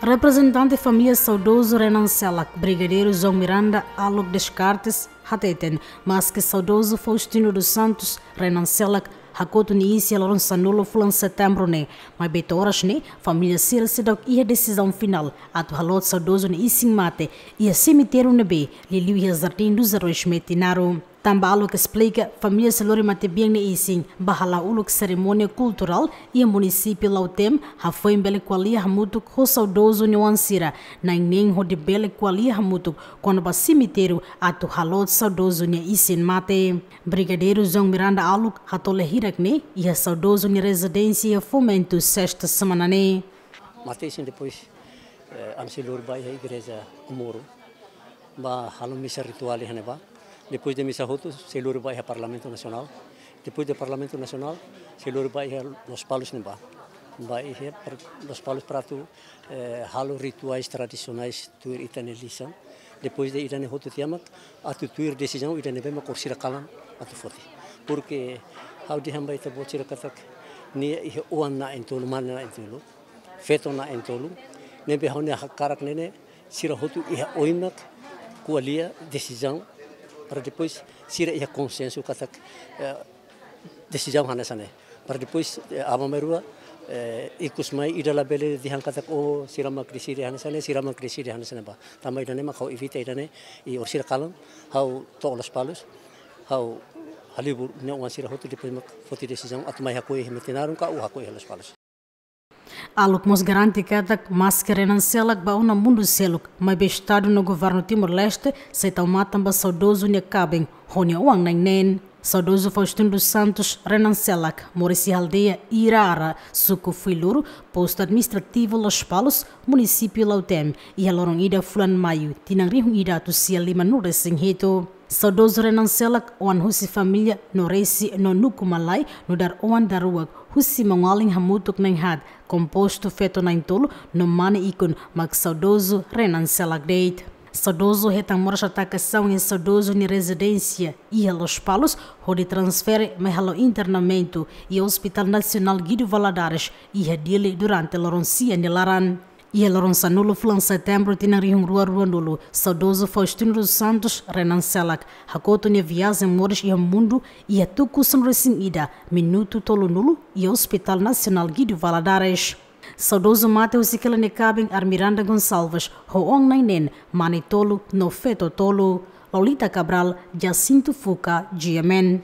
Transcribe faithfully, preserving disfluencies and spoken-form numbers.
Reprezentante família saudozu Renan Selak, Brigadeiru João Miranda Alok Descartes, hateten, maske saudozu Faustino dos Santos Renan Selak hakotu nia isin iha loron sanulu fulan Setembru ne'e, maibé to'o oras ne'e família sira seidauk iha desizaun finál atu haloot saudozu nia isin mate iha semitériu ne'ebé liuliu iha Jardim dos Heróis Metinaro. Tanba Alok esplika, família sei lori matebian nia isin ba hala'o uluk serimónia kulturál iha munisípiu Lautém, hafoin bele ko'alia hamutuk ho saudozu nia oan sira, na'in-neen hodi bele ko'alia hamutuk kona-ba semitériu atu haloot saudozu nia isin mate. Brigadeiru João Miranda Alok hateten, hirak ne'e iha saudozu nia rezidénsia iha Fomento sesta semana ne'e. Mate isin depois, eh, ami sei lori ba iha igreja Comoro ba halo misa rituál iha ne'ebá. Depois de misa hotu, sei lori ba iha Parlamentu Nasionál. Depois de Parlamentu Nasionál, sei lori ba iha Lospalos ne'ebá. Ba iha par-, Lospalos para atu, eh, halo rituais tradisionais tuir ita-nia lisan. Depois de ida-ne'e hotu tiha mak atu tuir desizaun ida ne'ebé mak orsida kalan atu foti. Porque ha'u dehan ba ita-boot sira katak nia iha oan na'in-tolu, mane na'in-tolu, feto na'in-tolu, ne'ebé ha'u-nia hakarak ne'e ne'e sira hotu iha oin mak ko'alia desizaun para depois sira iha konsensu katak, eh, desizaun hanesan ne'e. Para depois, eh, aban-bainrua, eh, ikus mai ida labele dehan katak, oh, sira mak deside hanesan ne'e, sira mak deside hanesan ne'e ba. Tanba ida-ne'e mak ha'u evita ida-ne'e, i orsida kalan, ha'u to'o Lospalos, ha'u halibur nia oan sira hotu depois mak foti desizaun atu mai hako'ak iha Metinaro ka atu hako'ak iha Lospalos. Alok mós garante katak maske Renan Selak bá ona mundu seluk, maibé Estadu no Governu Timor-Leste sei tau matan ba saudozu nia kaben ho nia oan na'in-neen. Saudozu Faustino dos Santos Renan Selak moris iha aldeia Irara, suku Fuiloro, postu administrativu Lospalos, munisípiu Lautém, iha loron ida fulan Maiu, tinan rihun ida atus sia lima-nulu resin hitu. Saudozu Renan Selak oan husi família Noresi no Nukumalai, nu'udar oan daruak husi maun-alin hamutuk na'in-haat, kompostu feto na'in-tolu no mane ikun mak saudozu Renan Selak de'it. Saudozu hetan moras hatakasaun iha saudozu nia rezidénsia iha Lospalos, hodi transfere mai halo internamentu iha Hospital Nasionál Guido Valadares iha Dili durante loron sia nia laran. Iha loron sanulu fulan Setembru tinan rihun rua rua-nulu, saudozu Faustino dos Santos Renan Selak hakotu nia viajen moris iha mundu iha tuku sanulu resin ida minutu tolunulu iha Hospital Nasionál Guido Valadares. Saudozu mate husik hela nia kaben Armiranda Gonçalves ho oan na'in-neen, mane tolu no feto tolu. Lolita Cabral, Jacinto Fuca, G M N.